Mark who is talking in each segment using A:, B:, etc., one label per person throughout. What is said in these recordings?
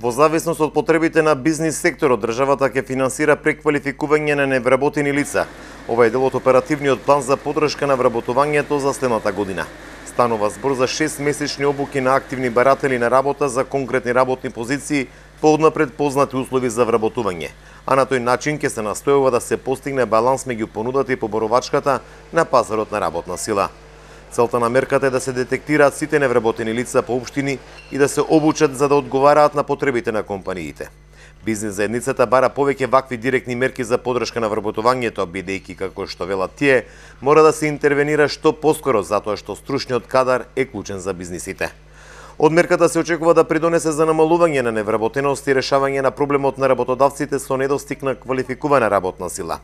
A: Во зависност од потребите на бизнис секторот, државата ќе финансира преквалификување на невработени лица. Ова е дел од оперативниот план за поддршка на вработувањето за следната година. Станува збор за 6-месечни обуки на активни баратели на работа за конкретни работни позиции по однапред познати услови за вработување. А на тој начин ќе се настојува да се постигне баланс меѓу понудата и поборувачката на пазарот на работна сила. Целта на мерката е да се детектираат сите невработени лица по општини и да се обучат за да одговараат на потребите на компаниите. Бизнес заедницата бара повеќе вакви директни мерки за поддршка на вработувањето, бидејќи, како што велат тие, мора да се интервенира што поскоро затоа што стручниот кадар е клучен за бизнисите. Од мерката се очекува да придонесе за намалување на невработеност и решавање на проблемот на работодавците со недостиг на квалификувана работна сила.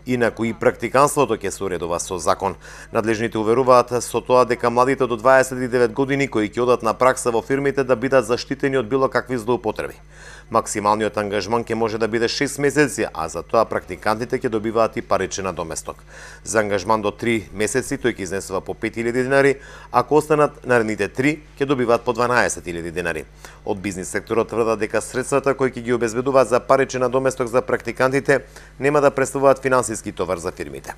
A: Инаку и практиканството ќе се уредува со закон. Надлежните уверуваат со тоа дека младите до 29 години кои ќе одат на пракса во фирмите да бидат заштитени од било какви злоупотреби. Максималниот ангажман ќе може да биде 6 месеци, а за тоа практикантите ќе добиваат и паричен надоместок. За ангажман до 3 месеци тој ќе изнесува по 5000 денари, ако останат наредните 3 ќе добиваат по 12.000 денари. Од бизнис секторот тврдат дека средствата кои ќе ги обезбедуваат за паричен надоместок за практикантите нема да представуваат финансиски товар за фирмите.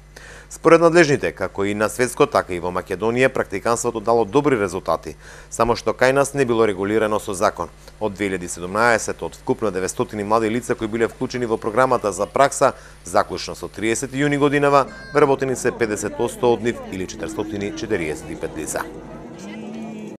A: Според надлежните, како и на светско, така и во Македонија, практиканството дало добри резултати, само што кај нас не било регулирано со закон. Од 2017 од вкупно 900 млади лица кои биле вклучени во програмата за пракса, заклучно со 30 јуни годинава, вработени се 50% од нив или 445 лица.